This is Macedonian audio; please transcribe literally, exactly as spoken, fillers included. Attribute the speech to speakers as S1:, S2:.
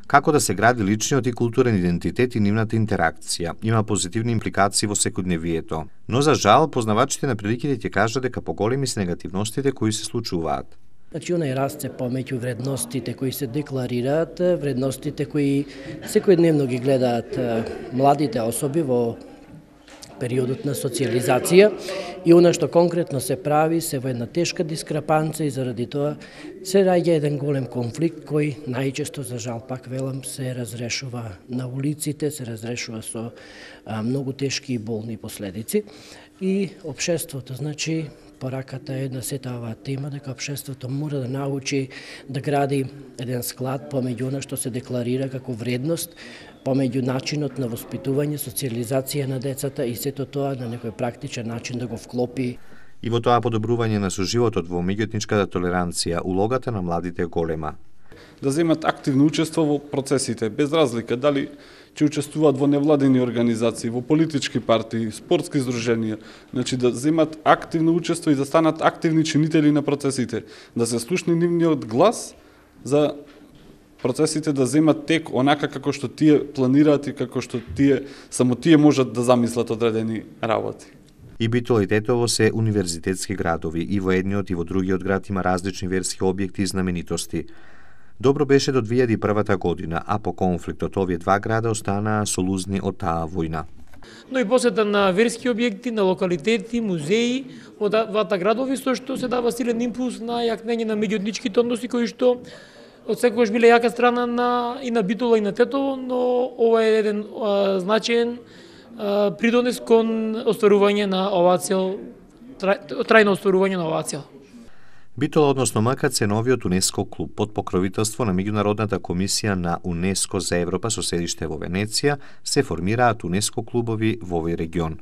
S1: Како да се гради личниот и културен идентитет и нивната интеракција, има позитивни импликации во секојдневието. Но за жал, познавачите на приликите ќе кажат дека поголеми се негативностите кои се случуваат.
S2: Значи, онај расте помеѓу вредностите кои се декларираат, вредностите кои секојдневно ги гледаат младите особи во периодот на социализација и она што конкретно се прави се во една тешка дискрапанца и заради тоа се раѓа еден голем конфликт кој најчесто, за жал пак велам, се разрешува на улиците, се разрешува со а, многу тешки и болни последици и општеството, значи, пораката е на сета оваа тема дека општеството мора да научи да гради еден склад помеѓу она што се декларира како вредност, помеѓу начинот на воспитување, социализација на децата и сето тоа на некој практичен начин да го вклопи.
S1: И во тоа подобрување на соживотот во меѓуетничката толеранција, улогата на младите е голема.
S3: Да земат активно учество во процесите, без разлика дали ќе учествуваат во невладени организации, во политички партии, спортски здруженија, значи да земат активно учество и да станат активни чинители на процесите, да се слушне нивниот глас за процесите да земат тек онака како што тие планираат и како што тие само тие можат да замислат одредени работи.
S1: И Битола и Тетово се универзитетски градови, и во едниот и во другиот град има различни верски објекти и знаменитости. Добро беше до две илјади и првата година, а по конфликтот овие два града останаа солузни од таа војна.
S4: Но и посета на верски објекти, на локалитети, музеи во двата градови, со што се дава силен импулс на јакнење на меѓуетничките односи кои што од секогаш биле јака страна на и на Битола и на Тетово, но ова е еден а, значаен а, придонес кон остварување на оваа цел, трајно остварување на оваа цел.
S1: Битола, односно МКЦ, новиот УНЕСКО клуб под покровителство на Меѓународната комисија на УНЕСКО за Европа со седиште во Венеција, се формираат УНЕСКО клубови во овој регион.